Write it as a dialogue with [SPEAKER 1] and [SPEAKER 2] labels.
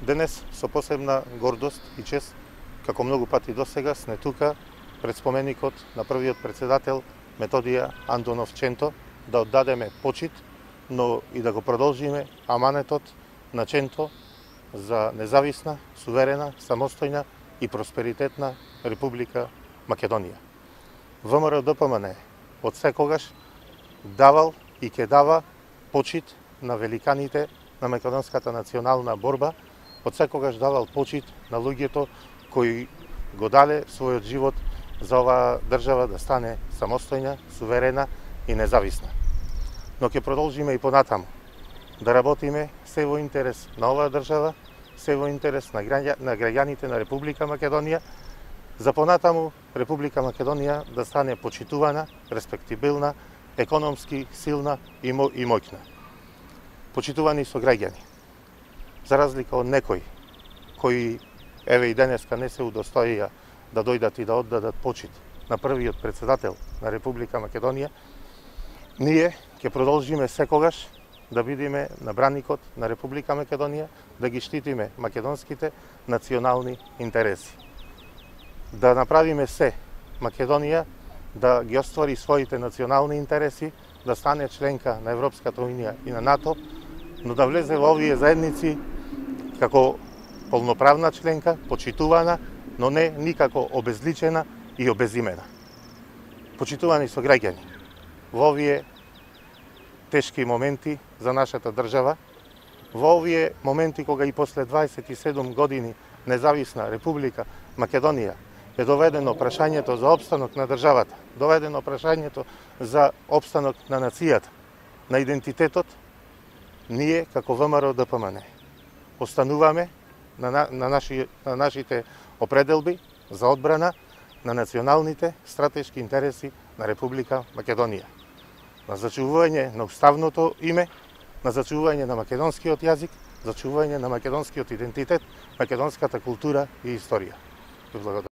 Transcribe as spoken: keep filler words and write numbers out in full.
[SPEAKER 1] Денес со посебна гордост и чест, како многу пати досега, сме тука пред споменикот на првиот председател Методија Андонов Ченто да оддадеме почит, но и да го продолжиме аманетот на Ченто за независна, суверена, самостојна и просперитетна Република Македонија. ВМРО-ДПМН од секогаш давал и ќе дава почит на великаните на македонската национална борба, од секогаш давал почит на луѓето кои го дале својот живот за оваа држава да стане самостојна, суверена и независна. Но ќе продолжиме и понатаму да работиме се во интерес на оваа држава, се во интерес на граѓаните на Република Македонија, за понатаму Република Македонија да стане почитувана, респектибилна, економски силна и моќна. Почитувани со граѓани. За разлика од некои кои еве и денеска не се удостоија да дојдат и да оддадат почит на првиот председател на Република Македонија, ние ќе продолжиме секогаш да бидеме на браникот на Република Македонија, да ги штитиме македонските национални интереси. Да направиме се Македонија да ги оствари своите национални интереси, да стане членка на Европската унија и на НАТО, но да влезе во овие заедници како полноправна членка, почитувана, но не никако обезличена и обезимена. Почитувани со граѓани во овие тешки моменти за нашата држава, во овие моменти кога и после дваесет и седум години независна Република Македонија е доведено прашањето за опстанок на државата, доведено прашањето за опстанок на нацијата, на идентитетот, ние како ВМРО-ДПМН остануваме на, на, наши, на нашите определби за одбрана на националните стратешки интереси на Република Македонија, на зачувување на уставното име, на зачувување на македонскиот јазик, зачувување на македонскиот идентитет, македонската култура и историја. Благодарам.